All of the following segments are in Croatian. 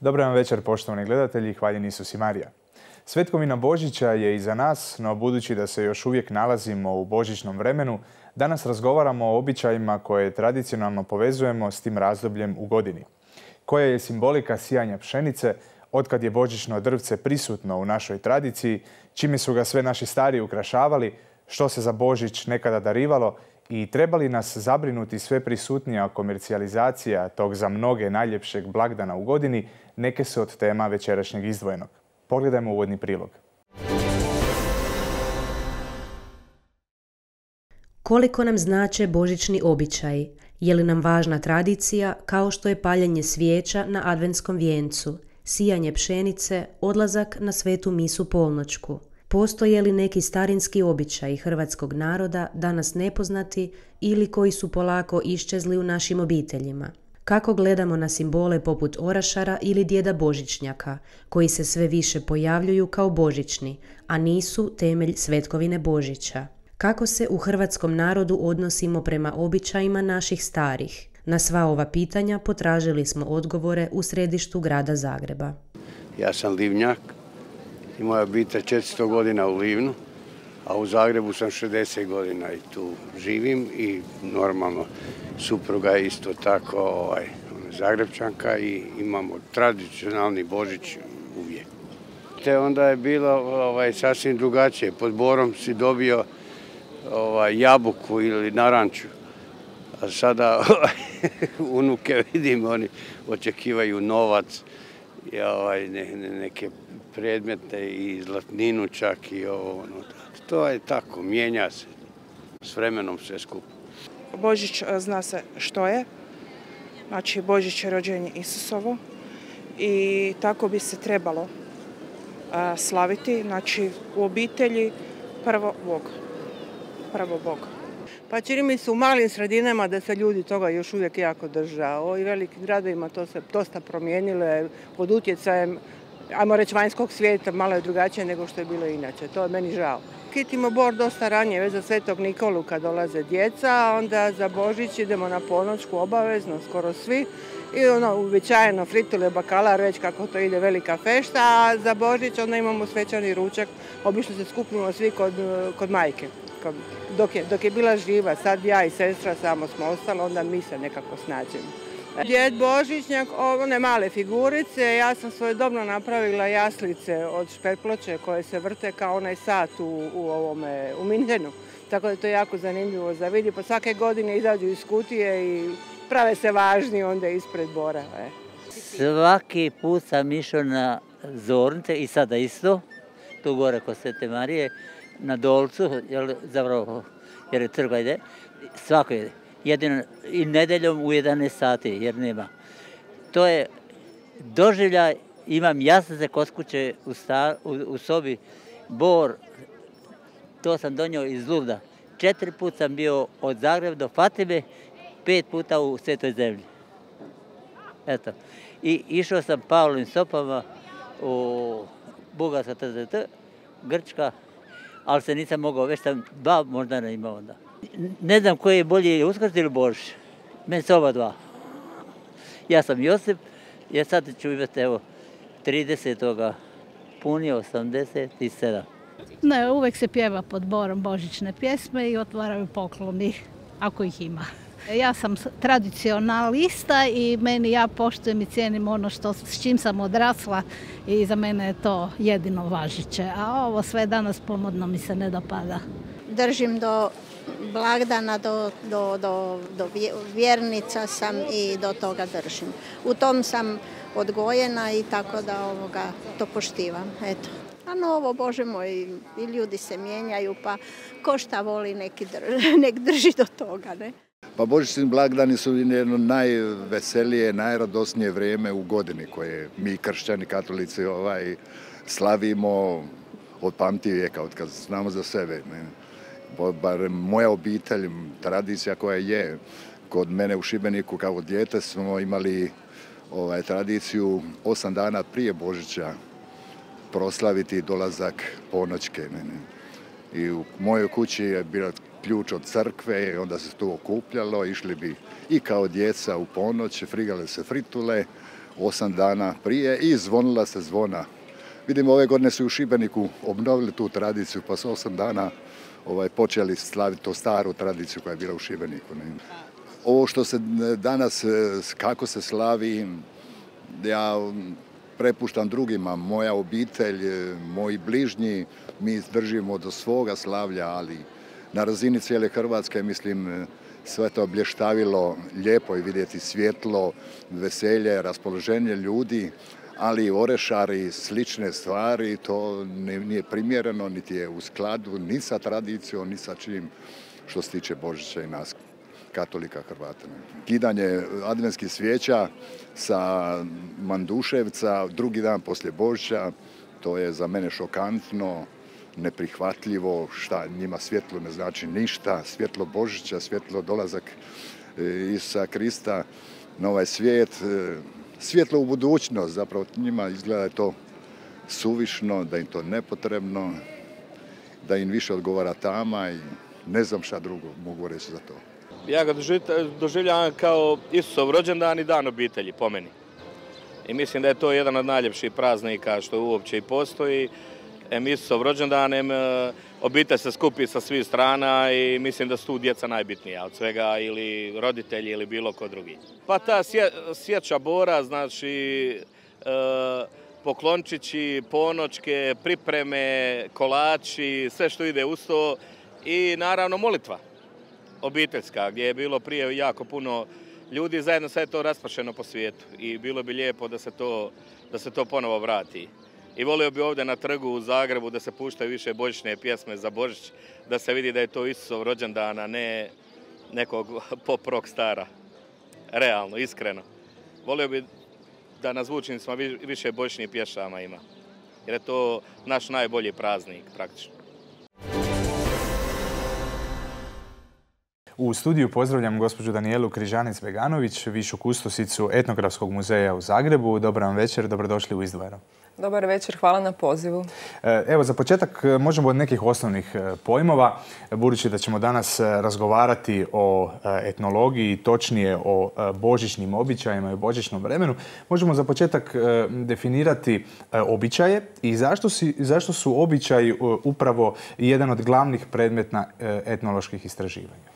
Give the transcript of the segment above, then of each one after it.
Dobar vam večer, poštovani gledatelji, hvaljen Isus i Marija. Svetkovina Božića je iza nas, no budući da se još uvijek nalazimo u božićnom vremenu, danas razgovaramo o običajima koje tradicionalno povezujemo s tim razdobljem u godini. Koja je simbolika sijanja pšenice, otkad je božićno drvce prisutno u našoj tradiciji, čime su ga sve naši stariji ukrašavali, što se za Božić nekada darivalo i treba li nas zabrinuti sve prisutnija komercijalizacija tog za mnoge najljepšeg blagdana u godini, neke su od tema večerašnjeg izdvojenog. Pogledajmo uvodni prilog. Koliko nam znače božićni običaji? Je li nam važna tradicija kao što je paljenje svijeća na adventskom vijencu, sijanje pšenice, odlazak na svetu misu polnoćku? Postoje li neki starinski običaji hrvatskog naroda danas nepoznati ili koji su polako iščezli u našim obiteljima? Kako gledamo na simbole poput orašara ili djeda Božićnjaka, koji se sve više pojavljuju kao božićni, a nisu temelj svetkovine Božića? Kako se u hrvatskom narodu odnosimo prema običajima naših starih? Na sva ova pitanja potražili smo odgovore u središtu grada Zagreba. Ja sam Livnjak i moja obitelj 400 godina u Livnu, a u Zagrebu sam 60 godina i tu živim i normalno supruga je isto tako Zagrebčanka i imamo tradicionalni Božić uvijek. Te onda je bilo sasvim drugačije. Pod borom si dobio jabuku ili naranču, a sada unuke vidim, oni očekivaju novac, neke predmete i zlatninu čak i ovo. To je tako, mijenja se s vremenom sve skupo. Božić zna se što je, znači Božić je rođenje Isusovo i tako bi se trebalo slaviti, znači u obitelji prvo Bog. Pa čini mi se u malim sredinama da se ljudi toga još uvijek jako drže. U ovim velikim gradovima to se dosta promijenilo pod utjecajem, ajmo reći, vanjskog svijeta, malo je drugačije nego što je bilo inače. To je meni žao. Kitimo bor dosta ranije, već za Svetog Nikolu kad dolaze djeca, a onda za Božić idemo na ponoćku obavezno, skoro svi. I uobičajeno fritule, bakalar, već kako to ide velika fešta, a za Božić onda imamo svečani ručak, obično se skupimo svi kod majke. Dok je bila živa, sad ja i sestra samo smo ostali, onda mi se nekako snađemo. Djed Božićnjak, one male figurice, ja sam svojedobno napravila jaslice od šperploče koje se vrte kao onaj sat u Minhenu. Tako da je to jako zanimljivo za vidjeti. Pa svake godine izađu iz kutije i prave se važni onda ispred bora. Svaki put sam išao na zornice i sada isto, tu gore kod Svete Marije, na Dolcu, jer je crkva ide, svako ide. Jedino i nedeljom u 11 sati, jer nema. To je doživljaj, imam jaslice kod kuće u sobi, bor, to sam donio iz Luvda. 4 puta sam bio od Zagreba do Fatime, 5 puta u Svetoj zemlji. Eto. I išao sam Pavlovim stopama u Bugarska, Grčka, ali se nisam mogao, već sam 2 možda ne imao onda. Ne znam koji je bolji, Uskrs ili Božić. Meni su oba dva. Ja sam Josip, jer sad ću imati 30. punije 87. Ne, uvijek se pjeva pod borom božićne pjesme i otvaraju pokloni, ako ih ima. Ja sam tradicionalista i ja poštujem i cijenim ono s čim sam odrasla i za mene je to jedino važeće. A ovo sve danas pomodno mi se ne dopada. Držim do blagdana, do vjernica sam i do toga držim. U tom sam odgojena i tako da to poštivam. Eto. A novo, Bože moj, i ljudi se mijenjaju, pa ko šta voli nek drži do toga, ne? Pa božićni blagdani su jedno najveselije, najradosnije vrijeme u godini koje mi kršćani, katolici slavimo od pamti vijeka, od kad znamo za sebe. Ne? Bar moja obitelj, tradicija koja je, kod mene u Šibeniku kao dijete smo imali tradiciju 8 dana prije Božića proslaviti dolazak ponoćke. I u mojoj kući je bio ključ od crkve i onda se tu okupljalo, išli bi i kao djeca u ponoć, frigale se fritule 8 dana prije i zvonila se zvona. Vidimo, ove godine su u Šibeniku obnovili tu tradiciju, pa su 8 dana počeli slaviti tu staru tradiciju koja je bila u Šibeniku. Ovo što se danas, kako se slavi, ja prepuštam drugima, moja obitelj, moji bližnji, mi držimo do svoga slavlja, ali na razini cijele Hrvatske, mislim, sve to blještavilo, lijepo je vidjeti svjetlo, veselje, raspoloženje ljudi, ali orešari, slične stvari, to nije primjereno, niti je u skladu ni sa tradicijom, ni sa čim što se tiče Božića i nas, katolika Hrvata. Kidanje adventskih svijeća sa Manduševca, drugi dan poslije Božića, to je za mene šokantno, neprihvatljivo, šta njima svjetlo ne znači ništa, svjetlo Božića, svjetlo dolazak Isusa Krista na ovaj svijet, svjetlo u budućnost, zapravo njima izgleda je to suvišno, da im to nepotrebno, da im više odgovara tama i ne znam šta drugo mogu reći za to. Ja ga doživljavam kao Isusov rođendan i dan obitelji, po meni. I mislim da je to jedan od najljepših praznika što uopće i postoji. Isusov rođendan, obitelj se skupi sa svih strana i mislim da su tu djeca najbitnija od svega, ili roditelji ili bilo ko drugi. Pa ta sjeća Bora, znači poklončići, ponoćke, pripreme, kolači, sve što ide uz to i naravno molitva obiteljska, gdje je bilo prije jako puno ljudi, zajedno sad je to raspršeno po svijetu i bilo bi lijepo da se to ponovo vrati. I volio bi ovdje na trgu u Zagrebu da se puštaju više božićne pjesme za Božić, da se vidi da je to Isusov rođendan, a ne nekog pop rock stara. Realno, iskreno. Volio bi da na zvučnicima više božićnih pješama ima, jer je to naš najbolji praznik praktično. U studiju pozdravljam gospođu Danijelu Križanec-Beganović, višu kustosicu Etnografskog muzeja u Zagrebu. Dobar vam večer, dobrodošli u Izdvojeno. Dobar večer, hvala na pozivu. Evo, za početak možemo od nekih osnovnih pojmova, budući da ćemo danas razgovarati o etnologiji, točnije o božićnim običajima i o božićnom vremenu. Možemo za početak definirati običaje i zašto su običaji upravo jedan od glavnih predmeta etnoloških istraživanja.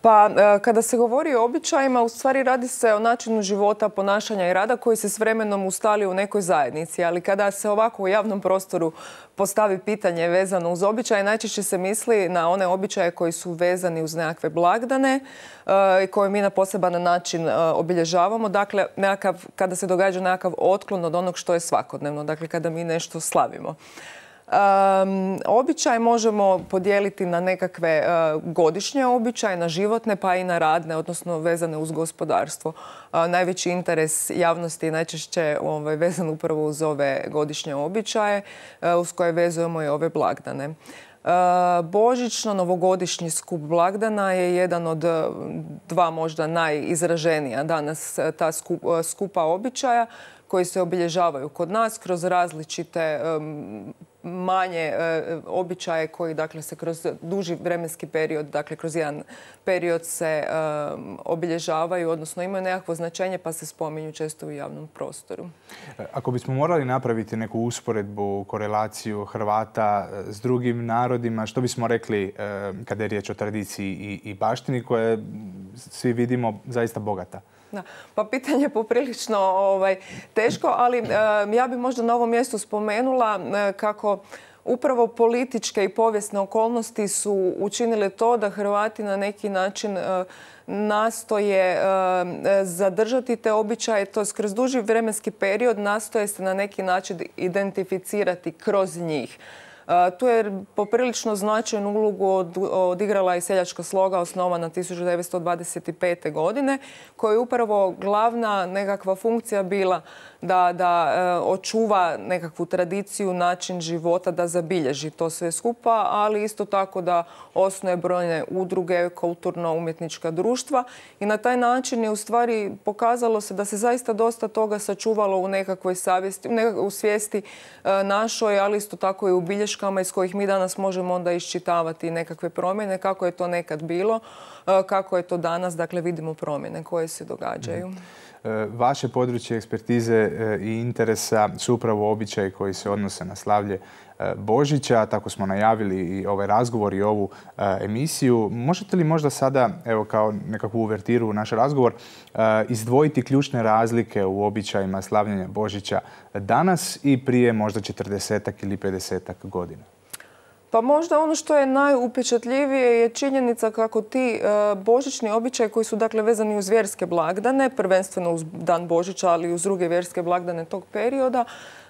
Pa kada se govori o običajima, u stvari radi se o načinu života, ponašanja i rada koji se s vremenom ustali u nekoj zajednici. Ali kada se ovako u javnom prostoru postavi pitanje vezano uz običaje, najčešće se misli na one običaje koji su vezani uz nekakve blagdane i koje mi na poseban način obilježavamo. Dakle, kada se događa nekakav otklon od onog što je svakodnevno, dakle kada mi nešto slavimo. Običaj možemo podijeliti na nekakve godišnje običaje, na životne pa i na radne, odnosno vezane uz gospodarstvo. Najveći interes javnosti je najčešće vezan upravo uz ove godišnje običaje uz koje vezujemo i ove blagdane. Božićno-novogodišnji skup blagdana je jedan od dva možda najizraženija danas ta skupa običaja koji se obilježavaju kod nas kroz različite manje običaje koji dakle se kroz duži vremenski period, dakle kroz jedan period se obilježavaju, odnosno imaju nekakvo značenje pa se spominju često u javnom prostoru. Ako bismo morali napraviti neku usporedbu, korelaciju Hrvata s drugim narodima, što bismo rekli kada je riječ o tradiciji i baštini koja je, svi vidimo, zaista bogata? Da. Pa pitanje je poprilično teško, ali ja bih možda na ovom mjestu spomenula kako upravo političke i povijesne okolnosti su učinile to da Hrvati na neki način nastoje zadržati te običaje, to kroz duži vremenski period nastoje se na neki način identificirati kroz njih. Tu je poprilično značajnu ulogu odigrala i seljačka sloga osnovana 1925. godine, koja je upravo glavna nekakva funkcija bila da očuva nekakvu tradiciju, način života, da zabilježi to sve skupa, ali isto tako da osnuje brojne udruge, kulturno-umjetnička društva i na taj način je u stvari pokazalo se da se zaista dosta toga sačuvalo u nekakvoj savjesti, u svijesti našoj, ali isto tako i u bilješkama iz kojih mi danas možemo onda iščitavati nekakve promjene, kako je to nekad bilo, kako je to danas, dakle vidimo promjene koje se događaju. Vaše područje ekspertize i interesa su upravo običaji koji se odnose na slavlje Božića. Tako smo najavili i ovaj razgovor i ovu emisiju. Možete li možda sada, evo kao nekakvu uvertiru u naš razgovor, izdvojiti ključne razlike u običajima slavljenja Božića danas i prije možda 40-ak ili 50-ak godina? Pa možda ono što je najupečatljivije je činjenica kako ti božićni običaji koji su dakle vezani uz vjerske blagdane, prvenstveno uz dan Božića, ali i uz druge vjerske blagdane tog perioda,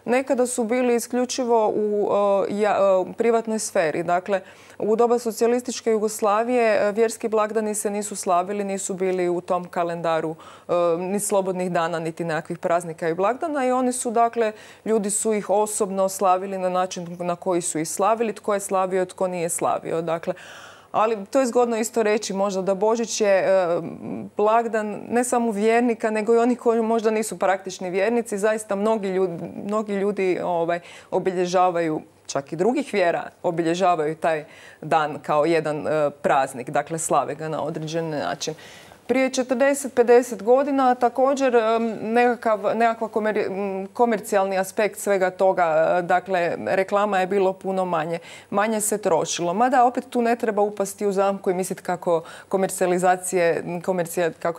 nekada su bili isključivo u privatnoj sferi. Dakle, u doba socijalističke Jugoslavije vjerski blagdani se nisu slavili, nisu bili u tom kalendaru ni slobodnih dana, niti nekakvih praznika i blagdana i oni su, dakle, ljudi su ih osobno slavili na način na koji su ih slavili, tko je slavio, tko nije slavio. Dakle, ali to je zgodno isto reći možda da Božić je blagdan ne samo vjernika, nego i oni koji možda nisu praktični vjernici. Zaista mnogi ljudi obilježavaju, čak i drugih vjera, obilježavaju taj dan kao jedan praznik, dakle slave ga na određen način. Prije 40-50 godina također nekakav komercijalni aspekt svega toga, dakle reklama je bilo puno manje se trošilo. Mada opet tu ne treba upasti u zamku i misliti kako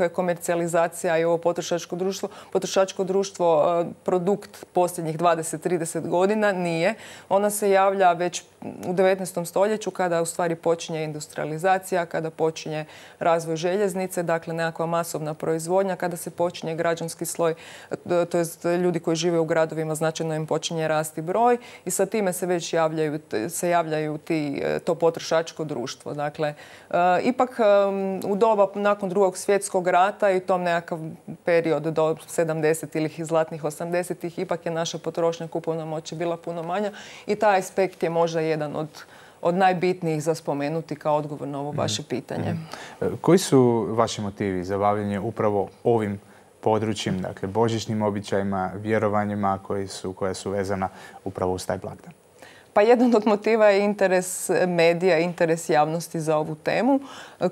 je komercijalizacija i ovo potrošačko društvo produkt posljednjih 20-30 godina. Nije. Ona se javlja već u 19. stoljeću kada u stvari počinje industrializacija, kada počinje razvoj željeznice, dakle nekakva masovna proizvodnja, kada se počinje građanski sloj, to jest ljudi koji žive u gradovima, značajno im počinje rasti broj i sa time se već javljaju to potrošačko društvo. Dakle, ipak u doba nakon Drugog svjetskog rata i tom nekakav period do 70 ili zlatnih 80-ih, ipak je naša potrošnja, kupovna moć bila puno manja i taj aspekt je možda jedan od najbitnijih za spomenuti kao odgovor na ovo vaše pitanje. Koji su vaši motivi za bavljenje upravo ovim područjem, dakle božićnim običajima, vjerovanjima koja su vezana upravo uz taj blagdan? Pa jedan od motiva je interes medija, interes javnosti za ovu temu,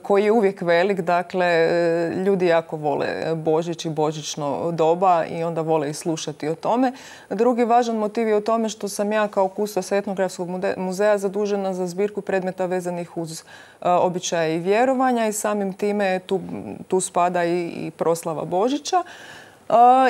koji je uvijek velik. Dakle, ljudi jako vole Božić i božićno doba i onda vole i slušati o tome. Drugi važan motiv je u tome što sam ja kao kustos Etnografskog muzeja zadužena za zbirku predmeta vezanih uz običaje i vjerovanja i samim time tu spada i proslava Božića.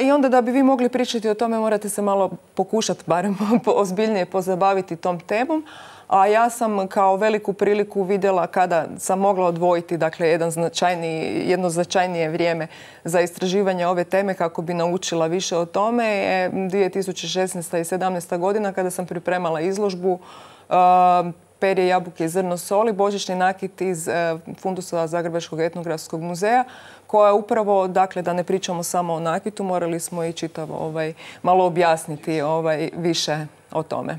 I onda da bi vi mogli pričati o tome morate se malo pokušati barem ozbiljnije pozabaviti tom temom. A ja sam kao veliku priliku vidjela kada sam mogla odvojiti dakle, jedno značajnije vrijeme za istraživanje ove teme kako bi naučila više o tome je 2016. i 2017. godina kada sam pripremala izložbu Perje, jabuke i zrno soli, božićni nakit iz fundusa Zagrebačkog etnografskog muzeja, koja upravo, dakle, da ne pričamo samo o nakitu, morali smo i čitavo malo objasniti više o tome.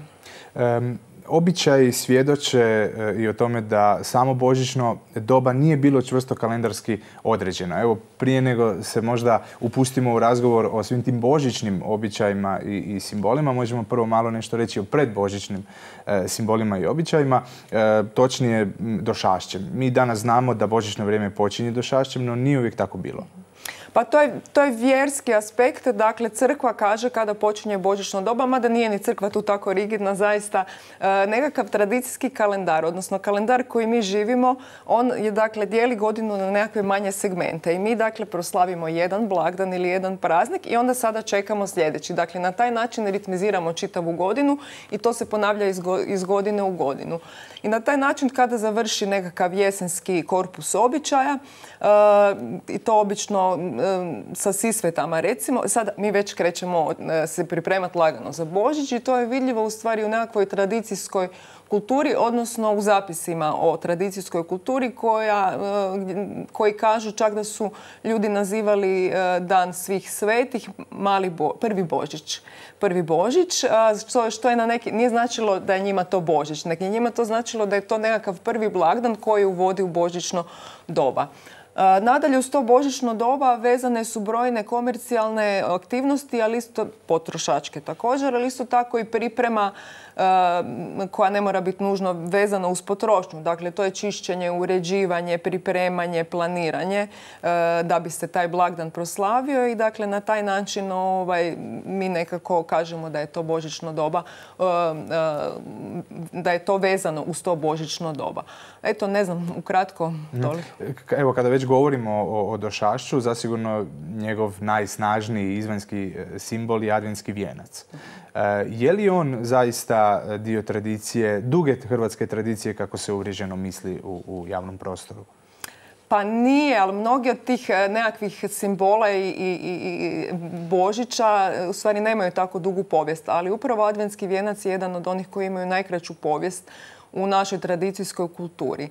Običaji svjedoče i o tome da samo božićno doba nije bilo čvrsto kalendarski određeno. Evo, prije nego se možda upustimo u razgovor o svim tim božićnim običajima i simbolima, možemo prvo malo nešto reći o predbožićnim simbolima i običajima, točnije došašćem. Mi danas znamo da božićno vrijeme počinje došašćem, no nije uvijek tako bilo. Pa to je vjerski aspekt, dakle crkva kaže kada počinje božićno doba, mada nije ni crkva tu tako rigidna, zaista nekakav tradicijski kalendar, odnosno kalendar koji mi živimo, on je dakle dijeli godinu na nekakve manje segmente i mi dakle proslavimo jedan blagdan ili jedan praznik i onda sada čekamo sljedeći. Dakle, na taj način ritmiziramo čitavu godinu i to se ponavlja iz godine u godinu. I na taj način kada završi nekakav jesenski korpus običaja, i to obično sa Sisvetama recimo. Sad mi već krećemo se pripremati lagano za Božić i to je vidljivo u stvari u nekakvoj tradicijskoj kulturi, odnosno u zapisima o tradicijskoj kulturi koji kažu čak da su ljudi nazivali dan svih svetih prvi Božić. Prvi Božić, što je nije značilo da je njima to Božić, nego je njima to značilo da je to nekakav prvi blagdan koji uvodi u božićno doba. Nadalje, uz to božićno doba vezane su brojne komercijalne aktivnosti, ali isto potrošačke također, ali isto tako i priprema koja ne mora biti nužno vezana uz potrošnju. Dakle, to je čišćenje, uređivanje, pripremanje, planiranje da bi se taj blagdan proslavio i dakle na taj način mi nekako kažemo da je to božićno doba, da je to vezano uz to božićno doba. Eto, ne znam, ukratko toliko. Evo, kada već govorimo o došašću, zasigurno njegov najsnažniji izvanjski simbol je adventski vijenac. Je li on zaista dio tradicije, duge hrvatske tradicije kako se uvriježeno misli u javnom prostoru? Pa nije, ali mnogi od tih nekakvih simbola i Božića u stvari nemaju tako dugu povijest. Ali upravo adventski vijenac je jedan od onih koji imaju najkraću povijest u našoj tradicijskoj kulturi.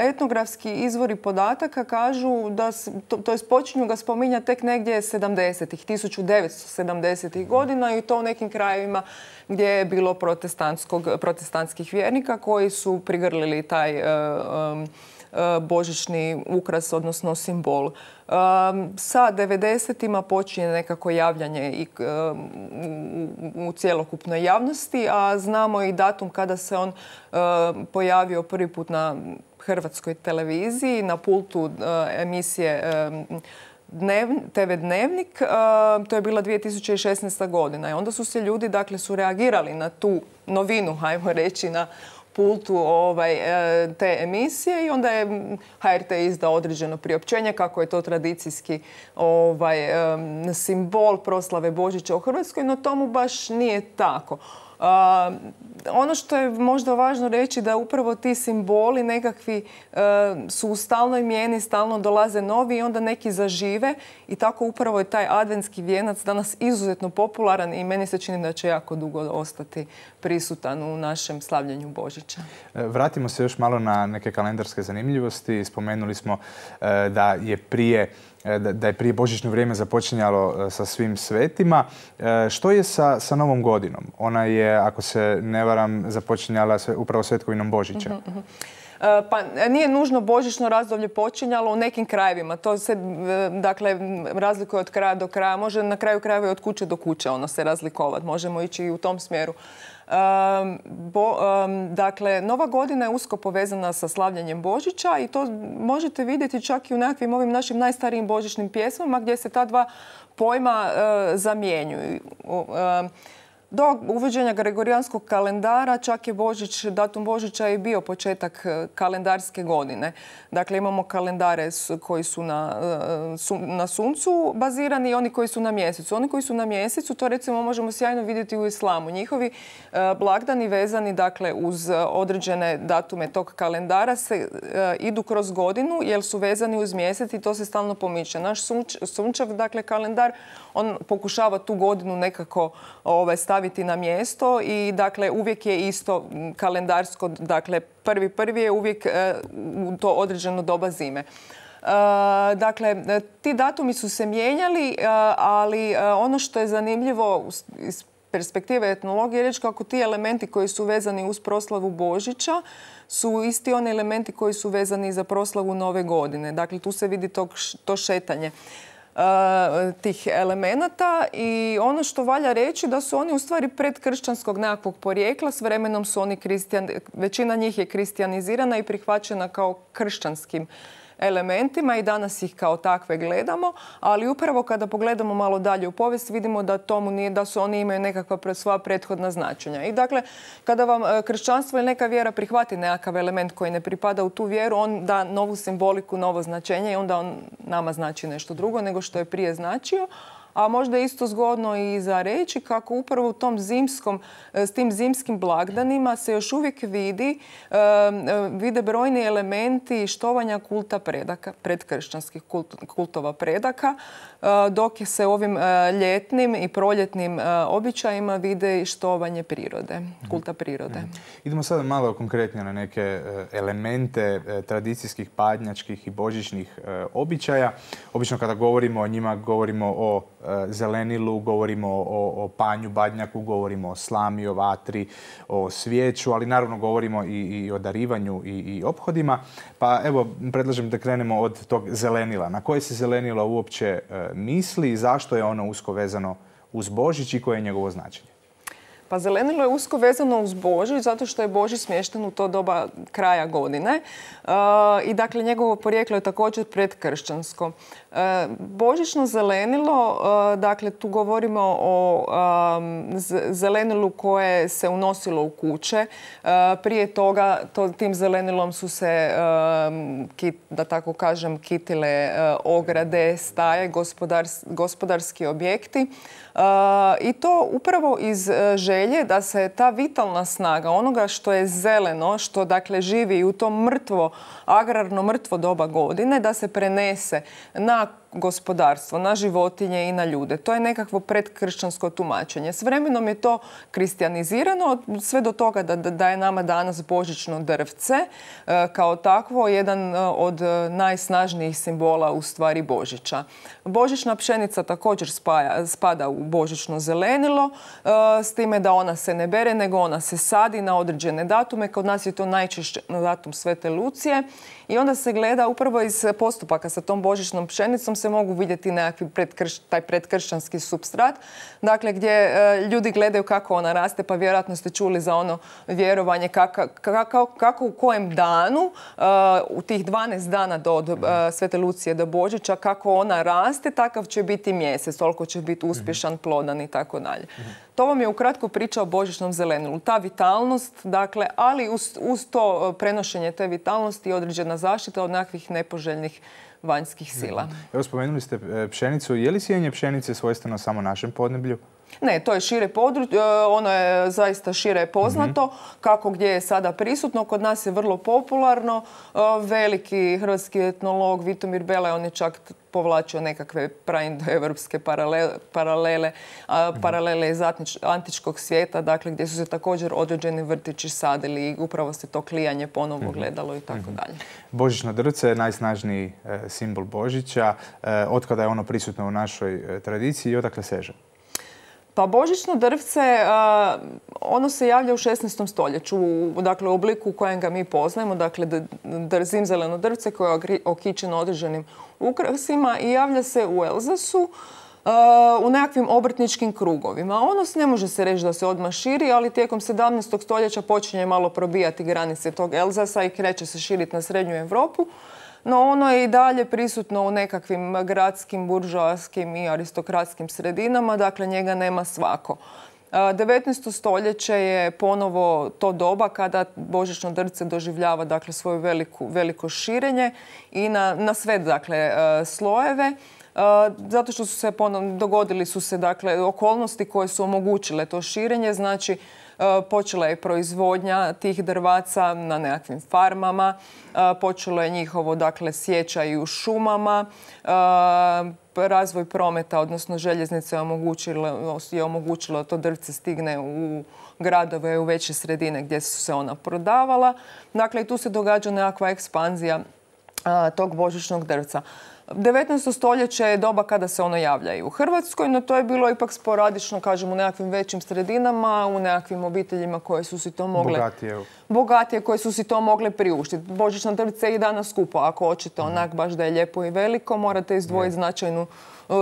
Etnografski izvori podataka kažu da, to jest počinju ga spominjati tek negdje 1970-ih godina i to u nekim krajevima gdje je bilo protestantskih vjernika koji su prigrlili taj božićni ukras, odnosno simbol. Sa 90-ima počinje nekako javljanje i u cjelokupnoj javnosti, a znamo i datum kada se on pojavio prvi put na hrvatskoj televiziji, na pultu emisije TV Dnevnik. To je bila 2016. godina. I onda su se ljudi, dakle, su reagirali na tu novinu, hajmo reći, na pultu te emisije i onda je HRT izdao određeno priopćenje kako je to tradicijski simbol proslave Božića u Hrvatskoj, no tomu baš nije tako. Ono što je možda važno reći da upravo ti simboli nekakvi su u stalnoj mijeni, stalno dolaze novi i onda neki zažive i tako upravo je taj adventski vijenac danas izuzetno popularan i meni se čini da će jako dugo ostati prisutan u našem slavljenju Božića. Vratimo se još malo na neke kalendarske zanimljivosti. Spomenuli smo da je prije božićno vrijeme započinjalo sa svim svetima. Što je sa Novom godinom? Ona je, ako se ne varam, započinjala upravo svetkovinom Božića. Pa nije nužno božićno razdoblje počinjalo u nekim krajevima. To se, dakle, razlikuje od kraja do kraja. Može na kraju krajeva i od kuće do kuće ono se razlikovati. Možemo ići i u tom smjeru. Dakle, Nova godina je usko povezana sa slavljanjem Božića i to možete vidjeti čak i u nekakvim ovim našim najstarijim božićnim pjesmama gdje se ta dva pojma zamjenjuju. Do uvođenja gregorijanskog kalendara čak je datum Božića i bio početak kalendarske godine. Dakle, imamo kalendare koji su na suncu bazirani i oni koji su na mjesecu. Oni koji su na mjesecu, to recimo možemo sjajno vidjeti u islamu. Njihovi blagdani vezani, dakle, uz određene datume tog kalendara idu kroz godinu jer su vezani uz mjesec i to se stalno pomiče. Naš sunčev, dakle, kalendar, on pokušava tu godinu nekako staviti na mjesto i dakle uvijek je isto kalendarsko, dakle prvi je uvijek u to određeno doba zime. Dakle, ti datumi su se mijenjali, ali ono što je zanimljivo iz perspektive etnologije je reći kako ti elementi koji su vezani uz proslavu Božića su isti oni elementi koji su vezani za proslavu Nove godine. Dakle, tu se vidi to šetanje tih elemenata i ono što valja reći da su oni u stvari predkršćanskog nekakvog porijekla. S vremenom su oni većina njih je kristijanizirana i prihvaćena kao kršćanskim elementima i danas ih kao takve gledamo, ali upravo kada pogledamo malo dalje u povijest vidimo da tomu nije, da su oni imaju nekakva svoja prethodna značenja. I dakle, kada vam kršćanstvo ili neka vjera prihvati nekakav element koji ne pripada u tu vjeru, on da novu simboliku, novo značenje i onda on nama znači nešto drugo nego što je prije značio. A možda je isto zgodno i za reći kako upravo u tom s tim zimskim blagdanima se još uvijek vide brojni elementi štovanja kulta predaka, predkršćanskih kultova predaka, dok se ovim ljetnim i proljetnim običajima vide i štovanje prirode, kulta prirode. Idemo sada malo konkretnije na neke elemente tradicijskih, padnjačkih i božićnih običaja. Obično kada govorimo o njima, govorimo o zelenilu, govorimo o panju, badnjaku, govorimo o slami, o vatri, o svijeću, ali naravno govorimo i o darivanju i ophodima. Pa evo, predlažem da krenemo od tog zelenila. Na koje se zelenilo uopće misli i zašto je ono usko vezano uz Božić i koje je njegovo značenje? Pa zelenilo je usko vezano uz Božić zato što je Božić smješten u to doba kraja godine i dakle njegovo porijeklo je također predkršćansko. Božićno zelenilo, dakle tu govorimo o zelenilu koje se unosilo u kuće. Prije toga tim zelenilom su se, da tako kažem, kitile ograde, staje, gospodarski objekti. I to upravo iz želje da se ta vitalna snaga onoga što je zeleno, što dakle živi u to agrarno mrtvo doba godine, da se prenese na gospodarstvo, na životinje i na ljude. To je nekakvo predkršćansko tumačenje. S vremenom je to kristjanizirano sve do toga da je nama danas božićno drvce kao takvo jedan od najsnažnijih simbola u stvari Božića. Božićna pšenica također spada u božićno zelenilo, s time da ona se ne bere, nego ona se sadi na određene datume. Kod nas je to najčešće na datum Svete Lucije. I onda se gleda upravo iz postupaka sa tom božićnom pšenicom se mogu vidjeti nekakvi taj predkršćanski supstrat. Dakle, gdje ljudi gledaju kako ona raste, pa vjerojatno ste čuli za ono vjerovanje kako u kojem danu, u tih 12 dana od Svete Lucije do Božića, kako ona raste, takav će biti mjesec, toliko će biti uspješan, plodan i tako dalje. To vam je ukratko priča o božićnom zelenilu. Ta vitalnost, dakle, ali uz to prenošenje te vitalnosti i određena zaštita od nekakvih nepoželjnih vanjskih sila. Evo, spomenuli ste pšenicu. Je li sijanje pšenice svojstveno samo našem podneblju? Ne, to je šire područje, ono je zaista šire poznato, kako gdje je sada prisutno. Kod nas je vrlo popularno. Veliki hrvatski etnolog Vitomir Bela, on je čak povlačio nekakve praindoevropske paralele iz antičkog svijeta, dakle gdje su se također određeni vrtići sadili i upravo se to klijanje ponovno gledalo i tako dalje. Božićno drvce je najsnažniji simbol Božića. Otkada je ono prisutno u našoj tradiciji i odakle seže? Pa božićno drvce, ono se javlja u 16. stoljeću, dakle u obliku u kojem ga mi poznajemo, dakle zimzeleno drvce koje je okićeno određenim ukrasima i javlja se u Elzasu u nekakvim obrtničkim krugovima. Ono ne može se reći da se odmah širi, ali tijekom 17. stoljeća počinje malo probijati granice tog Elzasa i kreće se širiti na srednju Europu. No ono je i dalje prisutno u nekakvim gradskim, buržoaskim i aristokratskim sredinama, dakle njega nema svako. 19. stoljeće je ponovo to doba kada božićno drvce doživljava dakle svoje veliko širenje i na sve dakle slojeve. Zato što dogodili su se dakle okolnosti koje su omogućile to širenje, znači počela je proizvodnja tih drvaca na nekakvim farmama, počelo je njihovo dakle sjeća i u šumama, razvoj prometa, odnosno željeznice je omogućilo da to drvce stigne u gradove, u veće sredine gdje su se ona prodavala. Dakle, i tu se događa nekakva ekspanzija tog božićnog drvca. 19. stoljeće je doba kada se ono javlja i u Hrvatskoj, no to je bilo ipak sporadično, kažem, u nekakvim većim sredinama, u nekakvim obiteljima koje su si to mogle... Bogatije, koje su si to mogle priuštiti. Božićno drvce je i danas skupo. Ako hoćete onak baš da je lijepo i veliko, morate izdvojiti značajnu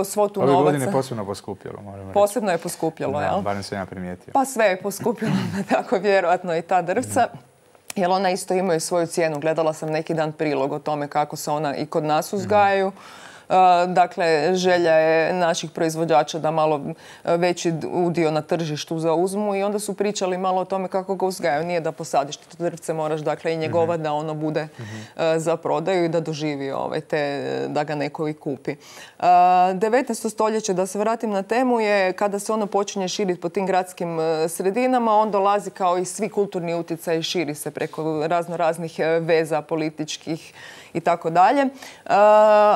svotu novaca. Ove godine je posebno poskupjelo, moram reći. Posebno je poskupjelo, jel? Barem sam ja primijetio. Pa sve je poskupjelo, tako vjerojatno i ta drvca. Jer ona isto imaju svoju cijenu. Gledala sam neki dan prilog o tome kako se ona i kod nas uzgajaju. Dakle, želja je naših proizvođača da malo veći udio na tržištu zauzmu i onda su pričali malo o tome kako ga uzgajaju. Nije da posadiš to drvce, moraš dakle i njegovat da ono bude za prodaju i da doživi da ga neko i kupi. 19. stoljeće, da se vratim na temu, je kada se ono počinje širiti po tim gradskim sredinama, on dolazi kao i svi kulturni utjecaj i širi se preko raznih veza političkih i tako dalje.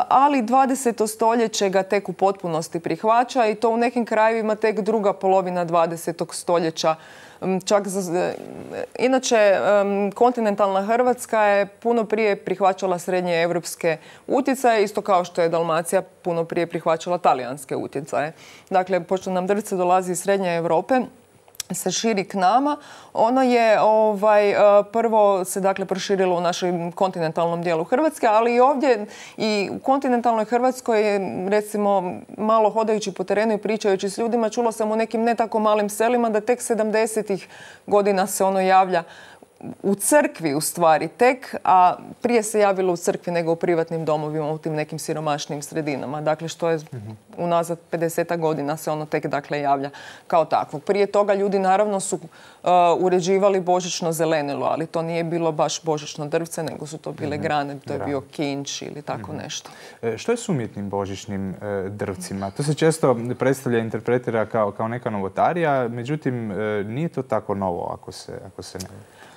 Ali 20. stoljeće ga tek u potpunosti prihvaća i to u nekim krajevima tek druga polovina 20. stoljeća. Inače, kontinentalna Hrvatska je puno prije prihvaćala srednje evropske utjecaje, isto kao što je Dalmacija puno prije prihvaćala talijanske utjecaje. Dakle, pošto nam drvce dolazi iz srednje Europe, se širi k nama. Ono je prvo se dakle proširilo u našem kontinentalnom dijelu Hrvatske, ali i ovdje i u kontinentalnoj Hrvatskoj, recimo malo hodajući po terenu i pričajući s ljudima, čula sam u nekim ne tako malim selima da tek 70-ih godina se ono javlja u crkvi u stvari tek, a prije se javilo u crkvi nego u privatnim domovima u tim nekim siromašnim sredinama. Dakle, što je unazad 50 godina se ono tek dakle javlja kao takvo. Prije toga ljudi naravno su uređivali božićno zelenilo, ali to nije bilo baš božićno drvce, nego su to bile grane, to je bio kinč ili tako nešto. Što je s umjetnim božićnim drvcima? To se često predstavlja, interpretira kao neka novotarija, međutim nije to tako novo ako se ne...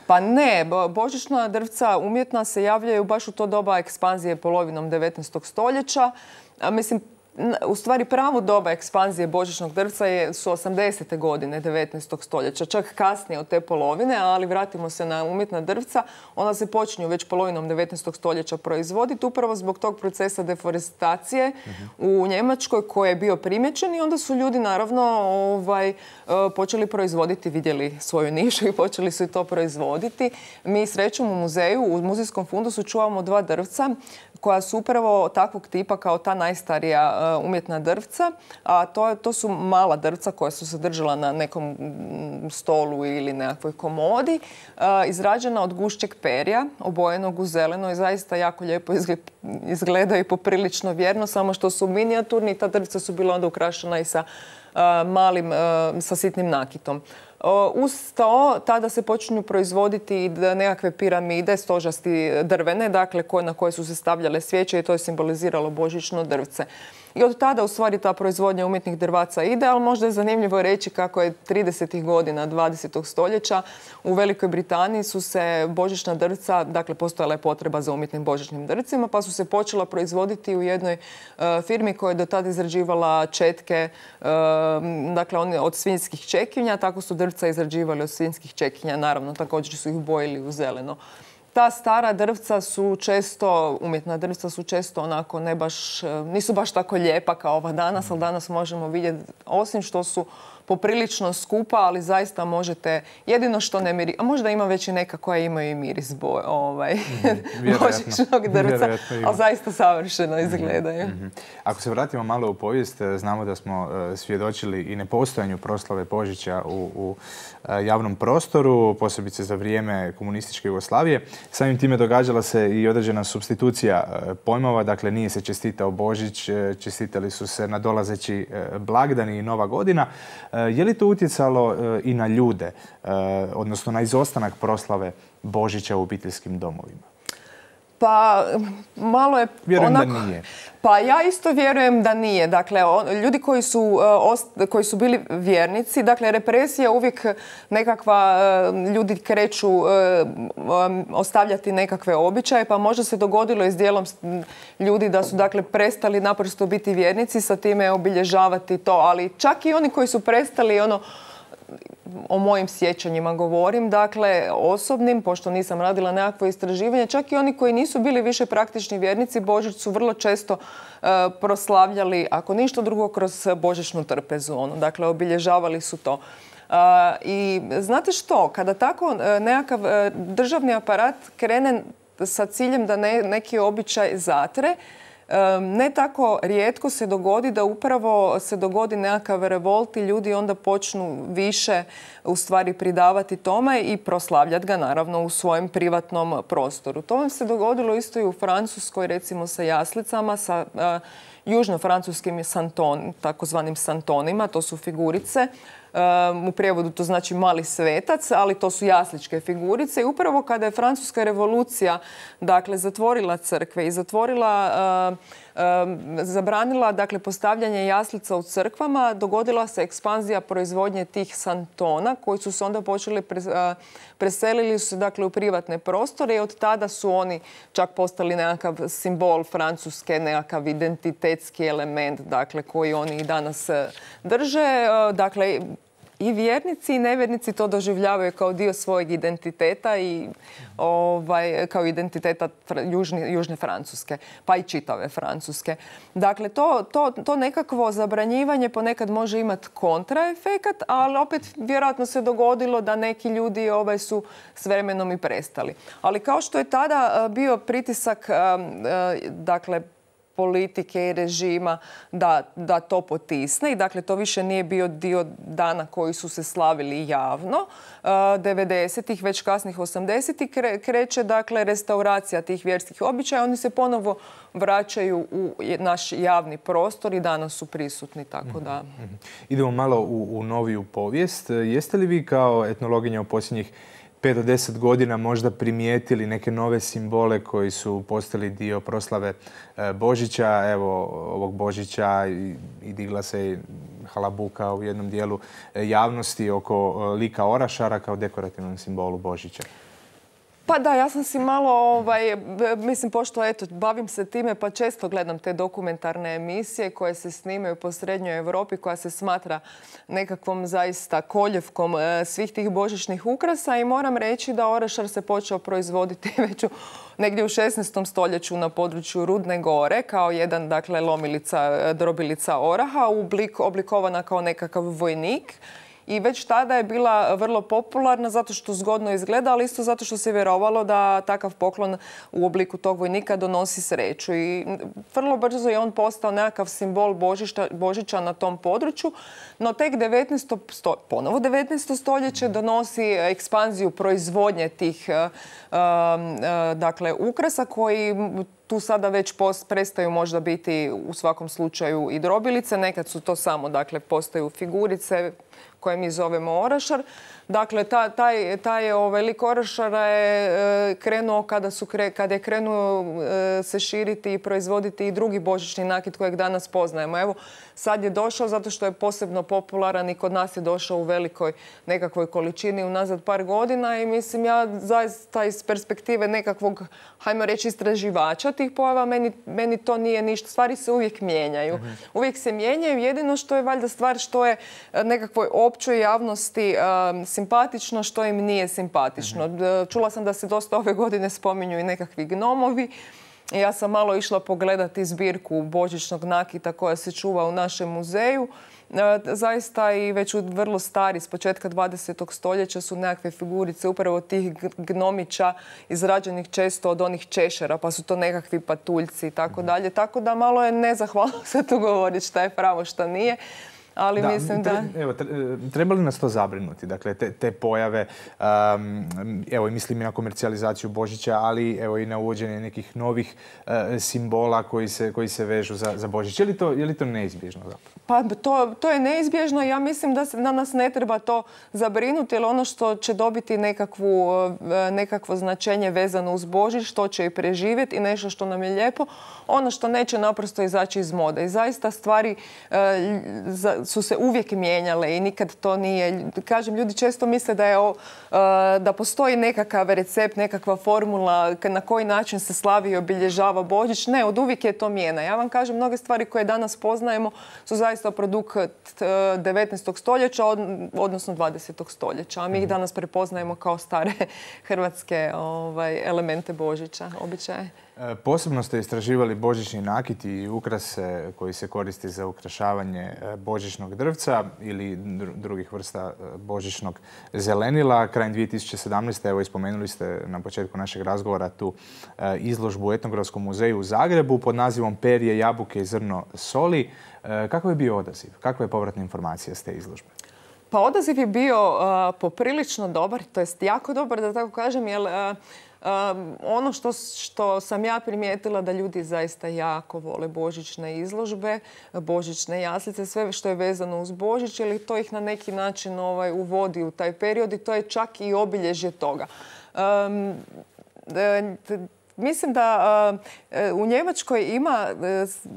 Pa ne, božićna drvca umjetna se javljaju baš u to doba ekspanzije polovinom 19. stoljeća. Mislim, u stvari pravo doba ekspanzije božićnog drvca su 80. godine 19. stoljeća, čak kasnije od te polovine, ali vratimo se na umjetna drvca. Ona se počinju već polovinom 19. stoljeća proizvoditi upravo zbog tog procesa deforestacije u Njemačkoj koji je bio primjećen i onda su ljudi naravno počeli proizvoditi, vidjeli svoju nišu i počeli su i to proizvoditi. Mi srećom u muzeju, u muzejskom fundusu čuvamo 2 drvca koja su upravo takvog tipa kao ta najstarija umjetna drvca, a to su mala drvca koja su se držala na nekom stolu ili nekakvoj komodi, izrađena od gušćeg perja, obojenog u zeleno i zaista jako lijepo izgledaju i poprilično vjerno, samo što su minijaturni i ta drvca su bila onda ukrašena i sa sitnim nakitom. Uz to, tada se počinju proizvoditi nekakve piramide stožasti drvene, dakle na koje su se stavljale svijeće i to je simboliziralo božićno drvce. I od tada u stvari ta proizvodnja umjetnih drvaca ide, ali možda je zanimljivo reći kako je 30. godina 20. stoljeća u Velikoj Britaniji su se božićna drvca, dakle postojala je potreba za umjetnim božićnim drvcima, pa su se počela proizvoditi u jednoj firmi koja je do tada izrađivala četke, dakle od svinjskih čekinja, tako su drvca izrađivali od svinjskih čekinja, naravno također su ih bojili u zeleno. Ta stara drvca su često, umjetna drvca su često onako nisu baš tako lijepa kao ova danas, ali danas možemo vidjeti, osim što su poprilično skupa, ali zaista možete, jedino što ne miri, a možda ima već i neka koja imaju i miris božićnog drvca, ali zaista savršeno izgledaju. Ako se vratimo malo u povijest, znamo da smo svjedočili i nepostojanju proslave Božića u javnom prostoru, posebice za vrijeme komunističke Jugoslavije. Samim time događala se i određena supstitucija pojmova, dakle nije se čestitao Božić, čestitali su se nadolazeći blagdani i Nova godina. Je li to utjecalo i na ljude, odnosno na izostanak proslave Božića u obiteljskim domovima? Pa malo je... Vjerujem da nije. Pa ja isto vjerujem da nije. Dakle, ljudi koji su bili vjernici, dakle, represija uvijek nekakva, ljudi kreću ostavljati nekakve običaje, pa možda se dogodilo i s dijelom ljudi da su, dakle, prestali naprosto biti vjernici, sa time obilježavati to. Ali čak i oni koji su prestali, o mojim sjećanjima govorim, dakle osobnim, pošto nisam radila nekakvo istraživanje, čak i oni koji nisu bili više praktični vjernici, Božić su vrlo često proslavljali, ako ništa drugo, kroz božićnu trpezu. Dakle, obilježavali su to. I znate što, kada tako nekakav državni aparat krene sa ciljem da neki običaj zatre, ne tako rijetko se dogodi da upravo se dogodi nekakav revolt i ljudi onda počnu više u stvari pridavati tome i proslavljati ga naravno u svojem privatnom prostoru. To vam se dogodilo isto i u Francuskoj, recimo sa jaslicama, sa južno-francuskim takozvanim santonima, to su figurice. U prijevodu to znači mali svetac, ali to su jasličke figurice. I upravo kada je Francuska revolucija zatvorila crkve i zabranila postavljanje jaslica u crkvama, dogodila se ekspanzija proizvodnje tih santona koji su se onda počeli preselili su u privatne prostore i od tada su oni čak postali nekakav simbol Francuske, nekakav identitetski element koji oni i danas drže. I vjernici i nevjernici to doživljavaju kao dio svojeg identiteta i kao identiteta južne Francuske, pa i čitave Francuske. Dakle, to nekakvo zabranjivanje ponekad može imati kontraefekat, ali opet vjerojatno se dogodilo da neki ljudi su s vremenom i prestali. Ali kao što je tada bio pritisak, politike i režima da to potisne i to više nije bio dio dana koji su se slavili javno. 90-ih, već kasnih 80-ih kreće restauracija tih vjerskih običaja. Oni se ponovo vraćaju u naš javni prostor i danas su prisutni. Tako da. Idemo malo u noviju povijest. Jeste li vi kao etnologinja u posljednjih 5 do 10 godina možda primijetili neke nove simbole koji su postali dio proslave Božića? Evo, ovog Božića i digla se halabuka u jednom dijelu javnosti oko lika orašara kao dekorativnom simbolu Božića. Pa da, ja sam si malo, mislim, pošto bavim se time pa često gledam te dokumentarne emisije koje se snimaju po Srednjoj Europi, koja se smatra nekakvom zaista koljevkom svih tih božićnih ukrasa i moram reći da orašar se počeo proizvoditi već negdje u 16. stoljeću na području Rudne Gore kao jedan, drobilica oraha, oblikovana kao nekakav vojnik. I već tada je bila vrlo popularna zato što zgodno izgleda, ali isto zato što se vjerovalo da takav poklon u obliku tog vojnika donosi sreću. I vrlo brzo je on postao nekakav simbol Božića na tom području, no tek 19. stoljeće donosi ekspanziju proizvodnje tih ukrasa koji tu sada već prestaju možda biti u svakom slučaju i drobilice. Nekad su to samo, postaju figurice koje mi zovemo orašar. Dakle, taj lik orašara je krenuo kad je krenuo se širiti i proizvoditi i drugi božićni nakit kojeg danas poznajemo. Evo, sad je došao zato što je posebno popularan i kod nas je došao u velikoj nekakvoj količini unazad par godina i mislim ja zaista iz perspektive nekakvog, hajmo reći, istraživača tih pojava, meni to nije ništa. Stvari se uvijek mijenjaju. Uvijek se mijenjaju. Jedino što je valjda stvar što je nekakvoj općoj javnosti simpatično, što im nije simpatično. Čula sam da se dosta ove godine spominju i nekakvi gnomovi. Ja sam malo išla pogledati zbirku božićnog nakita koja se čuva u našem muzeju. Zaista i već vrlo stari, s početka 20. stoljeća su nekakve figurice upravo tih gnomića izrađenih često od onih češera, pa su to nekakvi patuljci i tako dalje. Tako da malo je nezahvalno se tu govoriti šta je pravo, šta nije. Ali mislim da... Evo, treba li nas to zabrinuti? Dakle, te pojave, evo, mislim i na komercijalizaciju Božića, ali evo i na uvođenje nekih novih simbola koji se vežu za Božić. Je li to neizbježno zapravo? Pa to je neizbježno. Ja mislim da nas ne treba to zabrinuti, jer ono što će dobiti nekakvo značenje vezano uz Božić, što će i preživjeti i nešto što nam je lijepo, ono što neće naprosto izaći iz mode. I zaista stvari su se uvijek mijenjale i nikad to nije... Kažem, ljudi često misle da postoji nekakav recept, nekakva formula na koji način se slavi i obilježava Božić. Ne, od uvijek je to mijena. Ja vam kažem, mnoge stvari koje danas poznajemo su zaista produkt 19. stoljeća, odnosno 20. stoljeća. A mi ih danas prepoznajemo kao stare hrvatske elemente Božića, običaje. Posebno ste istraživali božićni nakit i ukrase koji se koristi za ukrašavanje božićnog drvca ili drugih vrsta božićnog zelenila. Krajem 2017. evo ispomenuli ste na početku našeg razgovora tu izložbu u Etnografskom muzeju u Zagrebu pod nazivom Perje, jabuke i zrno soli. Kakav je bio odaziv? Kakva je povratna informacija s te izložbe? Pa odaziv je bio poprilično dobar, to jest jako dobar da tako kažem, jer ono što sam ja primijetila da ljudi zaista jako vole božićne izložbe, božićne jaslice, sve što je vezano uz Božić, jer to ih na neki način uvodi u taj period i to je čak i obilježje toga. Mislim da u Njemačkoj ima,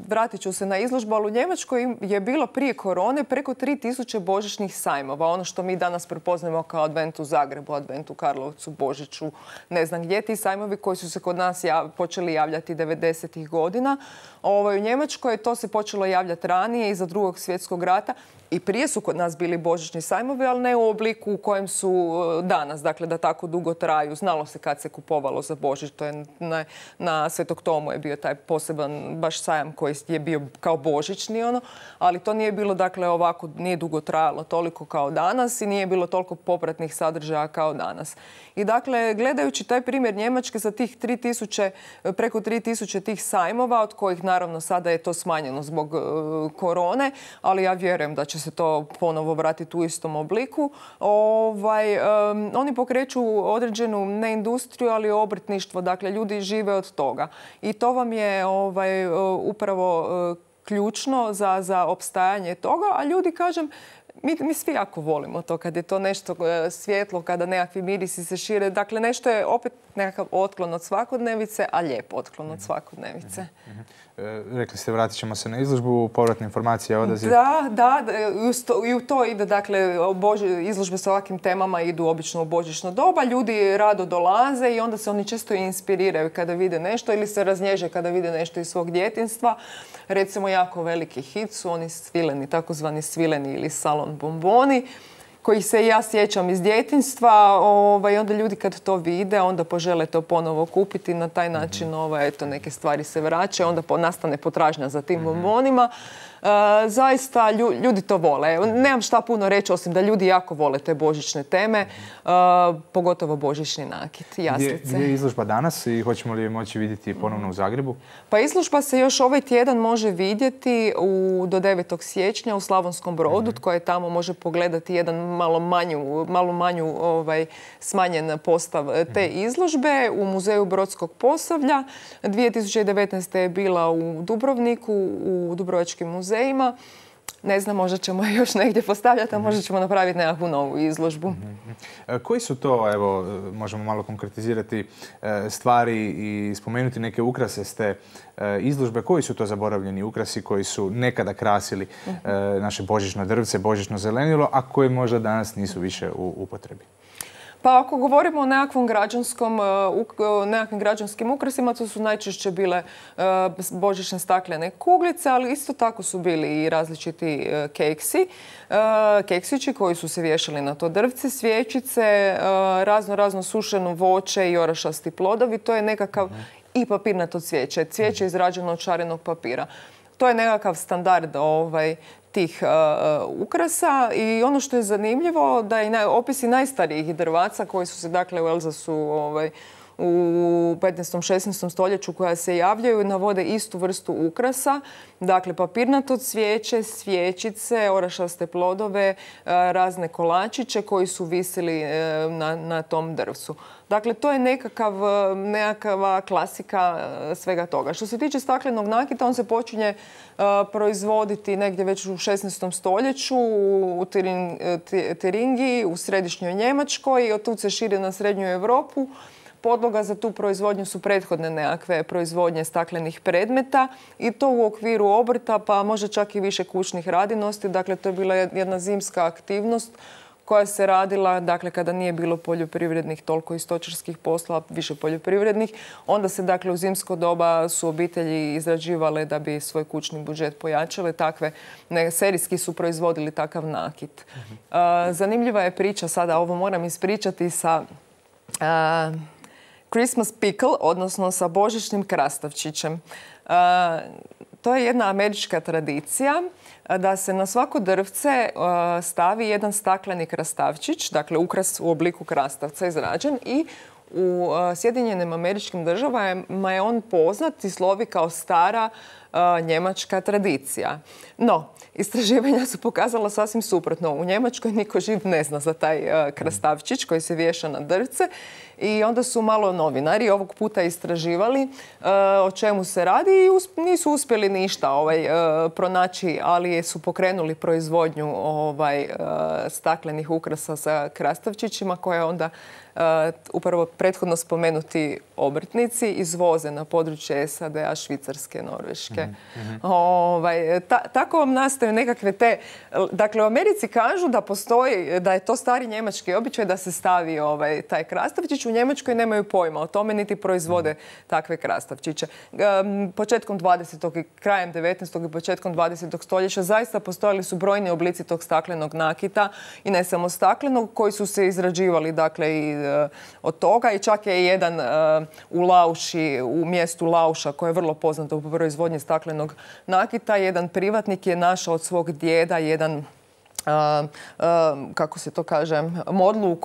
vratit ću se na izložbu, ali u Njemačkoj je bilo prije korone preko 3000 božićnih sajmova. Ono što mi danas prepoznajemo kao Advent u Zagrebu, Advent u Karlovcu, Božiću, ne znam gdje. Ti sajmovi koji su se kod nas počeli javljati 90-ih godina. U Njemačkoj to se počelo javljati ranije, iza Drugog svjetskog rata. I prije su kod nas bili božićni sajmovi, ali ne u obliku u kojem su danas, dakle da tako dugo traju. Znalo se kad se kupovalo za Božić, to je na Svetog Tomu je bio taj poseban baš sajam koji je bio kao božićni, ali to nije bilo, dakle ovako, nije dugo trajalo toliko kao danas i nije bilo toliko popratnih sadržaja kao danas. I dakle, gledajući taj primjer Njemačke sa tih 3000, preko 3000 tih sajmova, od kojih naravno sada je to smanjeno zbog korone, ali ja vjerujem da će se to ponovo vratiti u istom obliku. Oni pokreću određenu ne industriju, ali obrtništvo. Dakle, ljudi žive od toga. I to vam je upravo ključno za opstajanje toga. A ljudi, kažem, mi svi jako volimo to kad je to nešto svjetlo, kada nekakvi mirisi se šire. Dakle, nešto je opet nekakav otklon od svakodnevice, a lijep otklon od svakodnevice. Rekli ste, vratit ćemo se na izložbu, povratna informacija, odaziv. Da, i u to ide, dakle, izložbe sa ovakvim temama idu obično u božićno doba. Ljudi rado dolaze i onda se oni često inspiriraju kada vide nešto ili se raznježe kada vide nešto iz svog djetinjstva. Recimo, jako veliki hit su oni svileni, takozvani svileni ili salon bomboni, kojih se ja sjećam iz djetinjstva. Onda ljudi kad to vide, onda požele to ponovo kupiti. Na taj način eto, neke stvari se vraćaju, onda nastane potražnja za tim bombonima. Zaista ljudi to vole. Nemam šta puno reći, osim da ljudi jako vole te božićne teme, pogotovo božićni nakit, jaslice. Gdje je izložba danas i hoćemo li je moći vidjeti ponovno u Zagrebu? Pa izložba se još ovaj tjedan može vidjeti do 9. siječnja u Slavonskom Brodu, tko je tamo može pogledati jedan malo manju smanjen postav te izložbe u Muzeju Brodskog Posavlja. 2019. je bila u Dubrovniku, u Dubrovačkim muzejima. Ne znam, možda ćemo je još negdje postavljati, a možda ćemo napraviti nekakvu novu izložbu. Koji su to, evo, možemo malo konkretizirati stvari i spomenuti neke ukrase s te izložbe? Koji su to zaboravljeni ukrasi koji su nekada krasili naše božićno drvce, božićno zelenilo, a koji možda danas nisu više u upotrebi? Pa ako govorimo o nekakvom nekakvim građanskim ukrasima, to su najčešće bile božićne staklene kuglice, ali isto tako su bili i različiti keksići koji su se vješali na to drvce, svjećice, razno sušeno voće i orašasti plodovi. To je nekakav i papirnato cvijeće. Cvijeće izrađeno od šarenog papira. To je nekakav standard tih ukrasa i ono što je zanimljivo da i opisi najstarijih drvaca koji su se, dakle, u Elzasu u 15. 16. stoljeću koja se javljaju navode istu vrstu ukrasa. Dakle, papirnato cvijeće, svjećice, orašaste plodove, razne kolačiće koji su visili na tom drvcu. Dakle, to je nekakva klasika svega toga. Što se tiče staklenog nakita, on se počinje proizvoditi negdje već u 16. stoljeću u Tiringiji, u središnjoj Njemačkoj i od tu se širi na srednju Europu. Podloga za tu proizvodnju su prethodne nekakve proizvodnje staklenih predmeta i to u okviru obrta, pa možda čak i više kućnih radinosti. Dakle, to je bila jedna zimska aktivnost koja se radila, dakle, kada nije bilo poljoprivrednih toliko i stočarskih posla, više poljoprivrednih. Onda se, dakle, u zimsko doba su obitelji izrađivale da bi svoj kućni budžet pojačale. Serijski su proizvodili takav nakit. Zanimljiva je priča, sada ovo moram ispričati, sa Christmas pickle, odnosno sa božićnim krastavčićem. To je jedna američka tradicija da se na svako drvce stavi jedan stakleni krastavčić, dakle ukras u obliku krastavca izrađen, i u Sjedinjenim Američkim Državama je on poznat i slovi kao stara njemačka tradicija. No, istraživanja su pokazala sasvim suprotno. U Njemačkoj niko živ ne zna za taj krastavčić koji se vješa na drvce i onda su malo novinari ovog puta istraživali o čemu se radi i nisu uspjeli ništa pronaći, ali su pokrenuli proizvodnju staklenih ukrasa sa krastavčićima koje onda upravo prethodno spomenuti obrtnici izvoze na područje SAD-a, Švicarske, Norveške. Tako vam nastaju nekakve te... Dakle, u Americi kažu da postoji, da je to stari njemački običaj da se stavi taj krastavčić. U Njemačkoj nemaju pojma o tome, niti proizvode takve krastavčiće. Početkom 20. i krajem 19. i početkom 20. stoljeća zaista postojali su brojni oblici tog staklenog nakita i ne samo staklenog, koji su se izrađivali, dakle, i od toga, i čak je jedan u Lauši, u mjestu Lauša, koje je vrlo poznato u proizvodnji staklenog nakita, jedan privatnik je našao od svog djeda jedan kako se to kaže, modlu u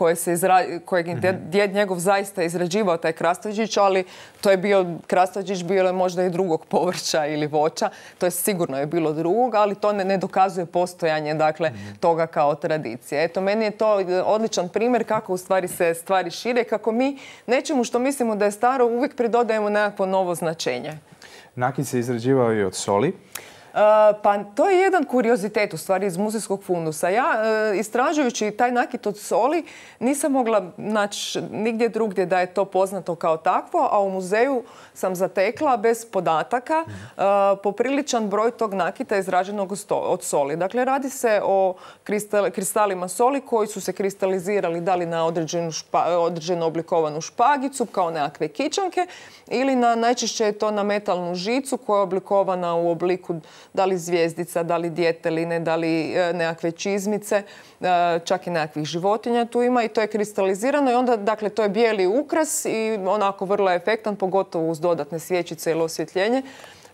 kojeg djed njegov zaista izrađivao taj krastavčić, ali to je bio krastavčić, bio je možda i drugog povrća ili voća. To je sigurno je bilo drugog, ali to ne dokazuje postojanje, dakle, toga kao tradicije. Eto, meni je to odličan primjer kako u stvari se stvari šire, kako mi nečemu što mislimo da je staro uvijek pridodajemo nekakvo novo značenje. Nakit se izrađivao i od soli? Pa to je jedan kuriozitet u stvari iz muzejskog fundusa. Ja, istražujući taj nakit od soli, nisam mogla naći nigdje drugdje da je to poznato kao takvo, a u muzeju sam zatekla bez podataka popriličan broj tog nakita izrađenog od soli. Dakle, radi se o kristalima soli koji su se kristalizirali da li na određenu oblikovanu špagicu kao nekakve kičanke ili najčešće je to na metalnu žicu koja je oblikovana u obliku da li zvjezdica, da li djeteline, da li nekakve čizmice, čak i nekakvih životinja tu ima i to je kristalizirano i onda, dakle, to je bijeli ukras i onako vrlo efektan, pogotovo uz dodatne svjećice ili osvjetljenje.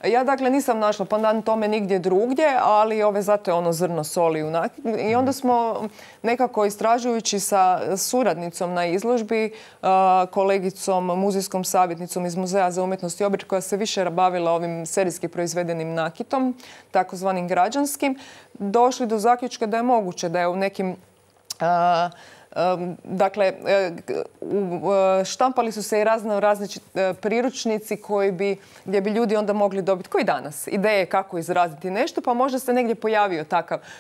Ja, dakle, nisam našla pandan tome nigdje drugdje, ali zato je ono zrno soli u nakitu. I onda smo nekako istražujući sa suradnicom na izložbi, kolegicom, muzejskom savjetnicom iz Muzeja za umjetnost i obrt koja se više bavila ovim serijski proizvedenim nakitom, takozvanim građanskim, došli do zaključka da je moguće da je u nekim dakle, štampali su se i različiti priručnici gdje bi ljudi onda mogli dobiti, koji danas, ideje kako izraditi nešto, pa možda se negdje pojavio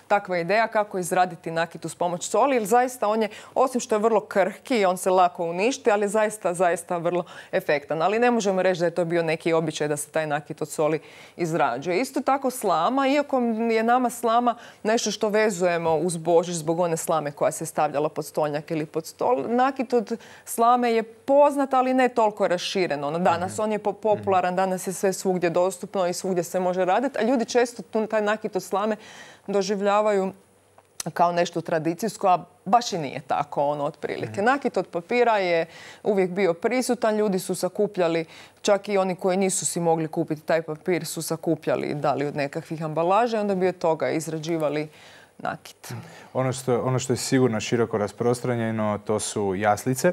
takva ideja kako izraditi nakit uz pomoć soli, jer zaista on je, osim što je vrlo krhki i on se lako uništi, ali zaista vrlo efektan. Ali ne možemo reći da je to bio neki običaj da se taj nakit od soli izrađuje. Isto tako slama, iako je nama slama nešto što vezujemo uz Božić zbog one slame koja se stavljala pod stonjak ili pod stol. Nakit od slame je poznat, ali ne toliko rašireno. Danas on je popularan, danas je sve svugdje dostupno i svugdje se može raditi, a ljudi često taj nakit od slame doživljavaju kao nešto tradicijsko, a baš i nije tako otprilike. Nakit od papira je uvijek bio prisutan, ljudi su sakupljali, čak i oni koji nisu si mogli kupiti taj papir su sakupljali da li od nekakvih ambalaža i onda bi od toga izrađivali nakit. Ono što je sigurno široko rasprostranjeno, to su jaslice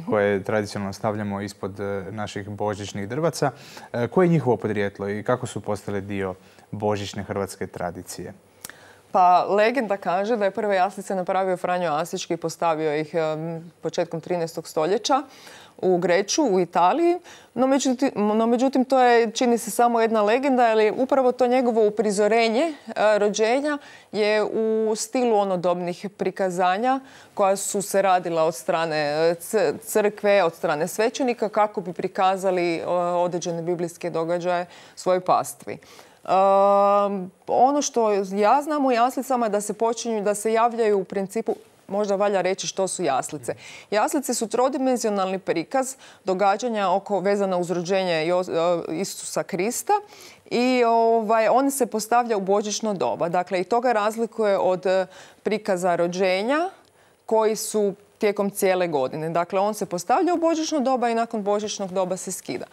koje tradicionalno stavljamo ispod naših božićnih drvaca. Koje je njihovo podrijetlo i kako su postale dio božićne hrvatske tradicije? Pa legenda kaže da je prve jaslice napravio Franjo Asički i postavio ih početkom 13. stoljeća u Greču, u Italiji. No međutim, to je, čini se, samo jedna legenda, jer upravo to njegovo uprizorenje rođenja je u stilu onodobnih prikazanja koja su se radila od strane crkve, od strane svećenika kako bi prikazali određene biblijske događaje svojoj pastvi. Ono što ja znam u jaslicama je da se počinju, da se javljaju u principu, možda valja reći što su jaslice. Jaslice su trodimenzionalni prikaz događanja vezana uz rođenje Isusa Krista i on se postavlja u božićno doba. Dakle, i to ga razlikuje od prikaza rođenja koji su tijekom cijele godine. Dakle, on se postavlja u božićno doba i nakon božićnog doba se skida.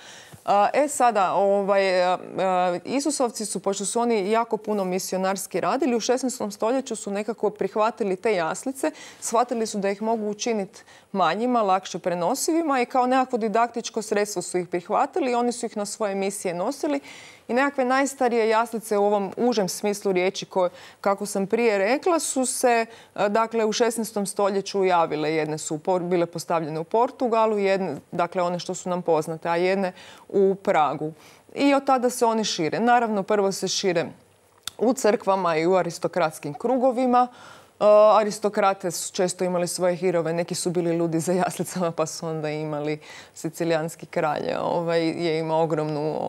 Sada, Isusovci su, pošto su oni jako puno misionarski radili, u 16. stoljeću su nekako prihvatili te jaslice, shvatili su da ih mogu učiniti manjima, lakše prenosivima i kao nekakvo didaktičko sredstvo su ih prihvatili i oni su ih na svoje misije nosili. I nekakve najstarije jaslice u ovom užem smislu riječi koje, kako sam prije rekla, su se dakle u 16. stoljeću javile. Jedne su bile postavljene u Portugalu, jedne, dakle one što su nam poznate, a jedne u Pragu. I od tada se oni šire. Naravno, prvo se šire u crkvama i u aristokratskim krugovima. Aristokrate su često imali svoje hirove, neki su bili ludi za jaslicama pa su onda imali sicilijanski kralj. Je imao ogromnu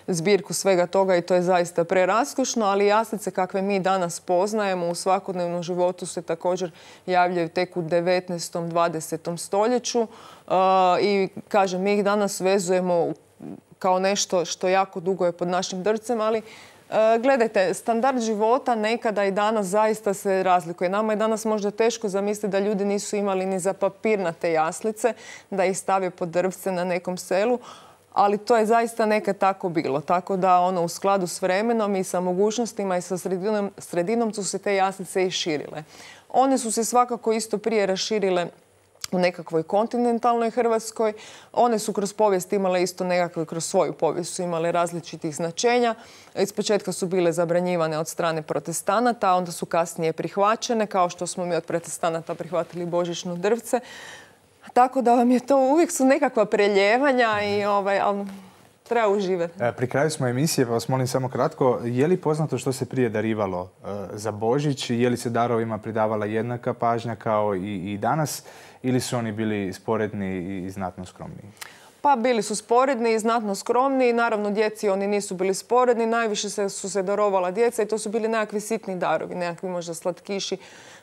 zbirku svega toga i to je zaista preraskošno, ali jaslice kakve mi danas poznajemo u svakodnevnom životu se također javljaju tek u 19. 20. stoljeću i kažem, mi ih danas vezujemo kao nešto što jako dugo je pod našim drcem, ali gledajte, standard života nekada i danas zaista se razlikuje. Nama je danas možda teško zamisliti da ljudi nisu imali ni za papirnate jaslice, da ih stave pod drvce na nekom selu, ali to je zaista nekad tako bilo. Tako da u skladu s vremenom i sa mogućnostima i sa sredinom su se te jaslice i širile. One su se svakako isto prije raširile u nekakvoj kontinentalnoj Hrvatskoj. One su kroz povijest imale isto nekakve, kroz svoju povijest su imale različitih značenja. Ispočetka su bile zabranjivane od strane protestanata, a onda su kasnije prihvaćene, kao što smo mi od protestanata prihvatili božićno drvce. Tako da vam je to, uvijek su nekakva preljevanja i ali treba uživati. Pri kraju smo emisije, pa vas molim samo kratko, je li poznato što se prije darivalo za Božić? Je li se darovima pridavala jednaka pažnja kao i danas? Ili su oni bili sporedni i znatno skromniji? Pa bili su sporedni i znatno skromni. Naravno, djeci oni nisu bili sporedni. Najviše su se darovala djeca i to su bili nekakvi sitni darovi, nekakvi možda slatkiši,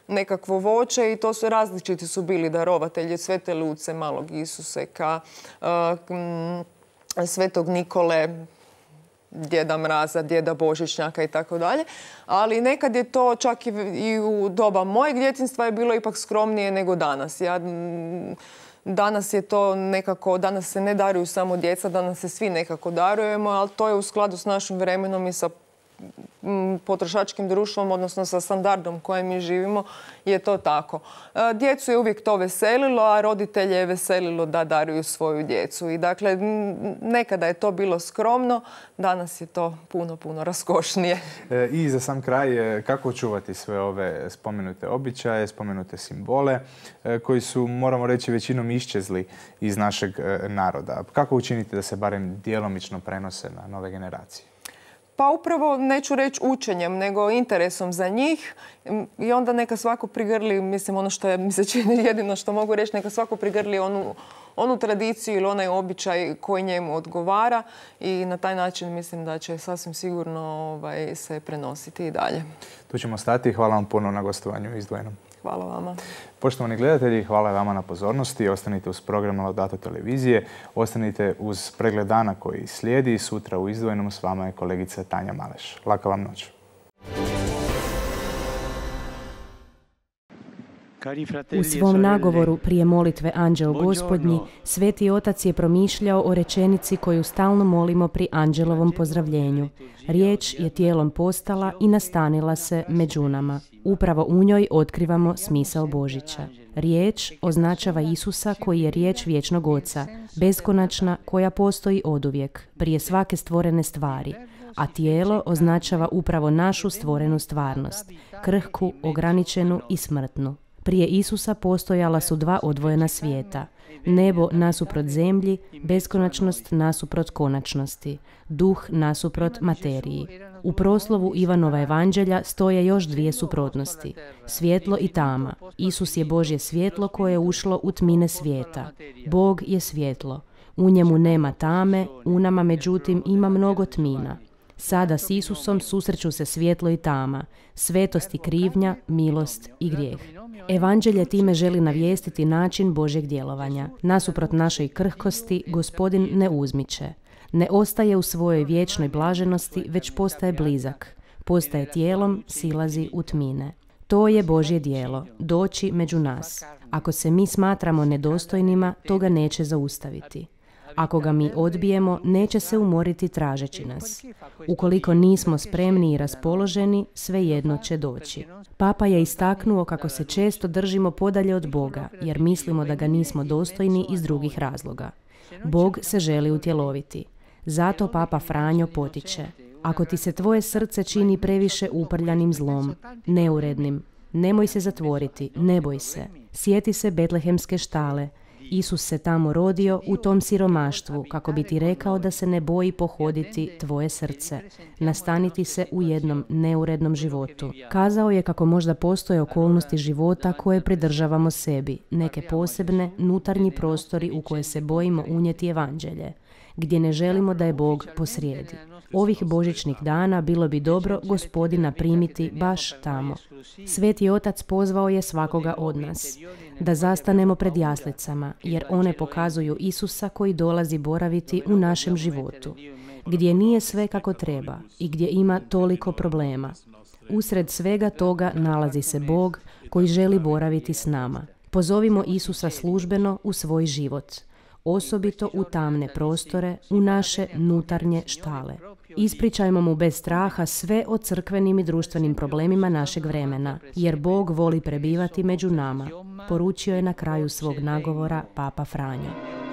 nekakvo voće i to su različiti su bili darovatelji. Svete Luce, Malog Isuseka, Svetog Nikole, Djeda Mraza, Djeda Božićnjaka i tako dalje. Ali nekad je to čak i u doba mojeg djetinjstva je bilo ipak skromnije nego danas. Danas je to nekako, danas se ne daruju samo djeca, danas se svi nekako darujemo, ali to je u skladu s našim vremenom i sa potrošačkim društvom, odnosno sa standardom kojem mi živimo, je to tako. Djecu je uvijek to veselilo, a roditelje je veselilo da daruju svoju djecu. I dakle, nekada je to bilo skromno, danas je to puno raskošnije. I za sam kraj, kako očuvati sve ove spomenute običaje, spomenute simbole, koji su, moramo reći, većinom iščezli iz našeg naroda? Kako učiniti da se barem djelomično prenose na nove generacije? Pa upravo, neću reći učenjem, nego interesom za njih i onda neka svako prigrli, mislim, ono što mi se čini jedino što mogu reći, neka svako prigrli onu tradiciju ili onaj običaj koji njemu odgovara i na taj način mislim da će sasvim sigurno se prenositi i dalje. Tu ćemo stati. Hvala vam puno na gostovanju u Izdvojenom. Hvala vama. Poštovani gledatelji, hvala vama na pozornosti. Ostanite uz program Laudato televizije. Ostanite uz pregled dana koji slijedi. Sutra u Izdvojenom s vama je kolegica Tanja Maleš. Laka vam noć. U svom nagovoru prije molitve Anđeo Gospodnji, Sveti Otac je promišljao o rečenici koju stalno molimo pri Anđelovom pozdravljenju. Riječ je tijelom postala i nastanila se među nama. Upravo u njoj otkrivamo smisao Božića. Riječ označava Isusa koji je riječ vječnog Oca, beskonačna koja postoji oduvijek, prije svake stvorene stvari. A tijelo označava upravo našu stvorenu stvarnost, krhku, ograničenu i smrtnu. Prije Isusa postojala su dva odvojena svijeta. Nebo nasuprot zemlji, beskonačnost nasuprot konačnosti, duh nasuprot materiji. U proslovu Ivanova evanđelja stoje još dvije suprotnosti. Svjetlo i tama. Isus je Božje svjetlo koje je ušlo u tmine svijeta. Bog je svjetlo. U njemu nema tame, u nama međutim ima mnogo tmina. Sada s Isusom susreću se svjetlo i tama, svetost i krivnja, milost i grijeh. Evanđelje time želi navijestiti način Božjeg djelovanja. Nasuprot našoj krhkosti, Gospodin ne uzmiče. Ne ostaje u svojoj vječnoj blaženosti, već postaje blizak. Postaje tijelom, silazi u tmine. To je Božje djelo, doći među nas. Ako se mi smatramo nedostojnima, to ga neće zaustaviti. Ako ga mi odbijemo, neće se umoriti tražeći nas. Ukoliko nismo spremni i raspoloženi, svejedno će doći. Papa je istaknuo kako se često držimo podalje od Boga, jer mislimo da ga nismo dostojni iz drugih razloga. Bog se želi utjeloviti. Zato Papa Franjo potiče: ako ti se tvoje srce čini previše uprljanim zlom, neurednim, nemoj se zatvoriti, ne boj se. Sjeti se Betlehemske štale. Isus se tamo rodio u tom siromaštvu kako bi ti rekao da se ne boji pohoditi tvoje srce, nastaniti se u jednom neurednom životu. Kazao je kako možda postoje okolnosti života koje pridržavamo sebi, neke posebne, unutarnji prostori u koje se bojimo unijeti evanđelje, gdje ne želimo da je Bog posrijedi. Ovih božićnih dana bilo bi dobro Gospodina primiti baš tamo. Sveti Otac pozvao je svakoga od nas da zastanemo pred jaslicama, jer one pokazuju Isusa koji dolazi boraviti u našem životu, gdje nije sve kako treba i gdje ima toliko problema. Usred svega toga nalazi se Bog koji želi boraviti s nama. Pozovimo Isusa službeno u svoj život, osobito u tamne prostore, u naše unutarnje štale. Ispričajmo mu bez straha sve o crkvenim i društvenim problemima našeg vremena, jer Bog voli prebivati među nama, poručio je na kraju svog nagovora Papa Franjo.